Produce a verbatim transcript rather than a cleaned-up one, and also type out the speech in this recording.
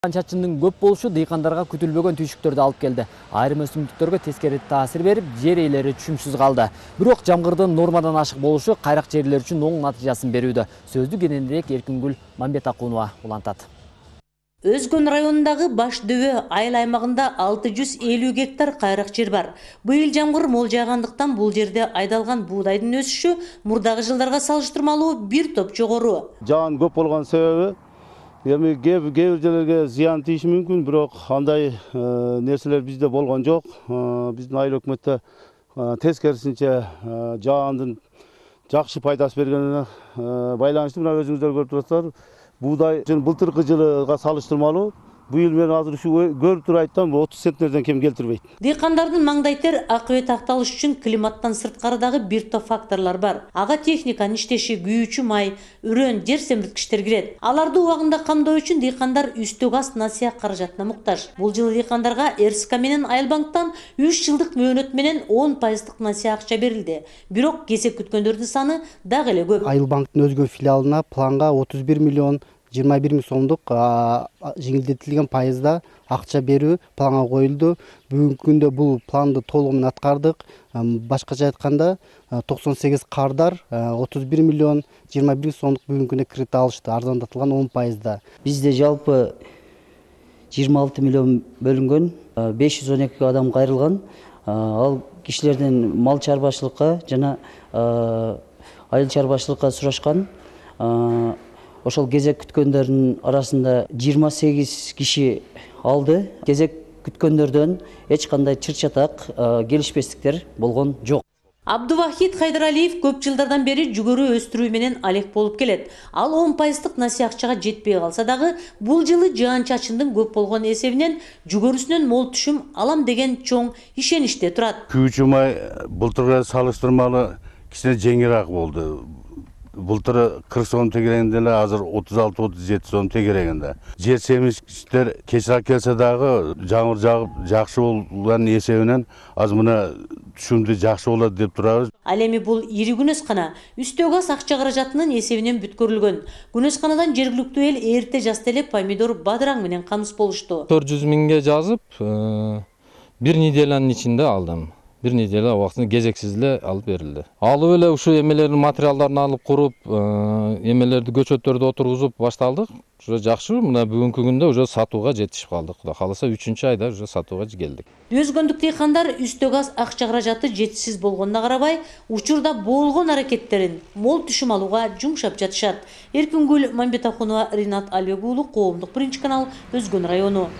Жаан-чачындын көп болушу дыйкандарга күтүлбөгөн түйшүктөрдү алып келди. Айрым өсүмдүктөргө тескери таасир берип, жер ээлери түшүмсүз калды. Бирок жамгырдын нормадан ашык болушу кайрак жерлер үчүн оң натыйжасын берүүдө. Сөздү кененирээк Эркингүл Мамбетакунова улантат. Өзгөн районундагы Баш дөбө айыл аймагында алты жүз элүү гектар кайрак жер бар. Быйыл жамгыр мол жаагандыктан бул жерде айдалган буудайдын өсүшү мурдагы жылдарга салыштырмалуу бир топ жогору. Жаан көп болгон себеби эми кээ бир жерлерге зыян тийиши мүмкүн, бирок андай нерселер бизде болгон жок. Биздин айыл өкмөттө тескерисинче жаандын жакшы пайдасы бергенине байланыштуу. Мына өзүңүздөр көрүп турасыздар. Буудай былтыркы жылга салыштырмалуу быйыл мен азыр ушу көрүп туруп айттым, отуз центнерден кем келтирбейт. Дыйкандардын маңдайтер акыбет акталышы үчүн климаттан сырткары бир топ факторлор бар. Ага техниканын иштеши, күйүүчү май, үрөн, жер семирткичтер кирет. Аларды убагында камдоо үчүн дыйкандар үстө газ насыя каражатына муктаж. Бул жылы дыйкандарга РСК менен Айылбанктан үч жылдык мөөнөт менен он пайыздык насыя акча берилди. Бирок кезек күткөндөрдүн саны дагы эле көп. Айылбанктын өзгө филиалына планга отуз бир миллион жыйырма бир миң сомдук жеңилдетилген пайызда акча берүү планга коюлду. Бүгүнкү күндө бул планды толугу менен аткардык. Башкача айтканда токсон сегиз кардар отуз бир миллион жыйырма бир миң сомдук бүгүнкү күндө кредит алышты, арзандатылган он пайызда. Бизде жалпы жыйырма алты миллион бөлүнгөн, беш жүз он эки адам кайрылган. Ал кишилерден мал чарбачылыкка жана айыл чарбачылыкка сурашкан. Ошол кезек күткөндөрдүн арасында жыйырма сегиз киши алды. Кезек күткөндөрдөн эч кандай чыр-чатак, келишпестиктер болгон жок. Абдувахит Хайдаралиев көп жылдардан бери жүгөрү өстүрүү менен алек болуп келет. Ал он пайыздык насыя акчага жетпей калса дагы, бул жылы жаан-чачындын көп болгон эсебинен жүгөрүсүнөн мол түшүм алам деген чоң ишеничте турат. Күйүүчү май былтырга салыштырмалуу кичине жеңилирээк болду. Былтыр кырк сом тегерегинде эле азыр отуз алты отуз жети сом тегерегинде. Жер семирткичтер кечирээк келсе дагы жамгыр жагып жакшы болгон эсебинен азыр мына түшүмдү жакшы болот деп турабыз. Ал эми бул ири күнөскана үстө газ акча каражатынын эсебинен бүткөрүлгөн. Күнөсканадан жергиликтүү эл эрте жазда эле помидор, бадыраң менен камсыз болушту. төрт жүз миңге жазып, бир неделянын ичинде алдым. Бир неделя убактында кезексиз эле алып берилди. Алып эле ушу эмелердин материалдарын алып куруп, эмелерди көчөттөрдү отургузуп башталдык. Уже жакшы, мына бүгүнкү күндө уже сатууга жетишип калдык. Кудай кааласа үчүнчү айда уже сатууга келдик. Өзгөндүк дыйкандар үстө газ акча каражаты жетишсиз болгонуна карабай, учурда болгон аракеттерин мол түшүм алууга жумшап жатышат. Эркингүл Мамбетакунова, Ринат Албек уулу, Коомдук биринчи канал, Өзгөн району.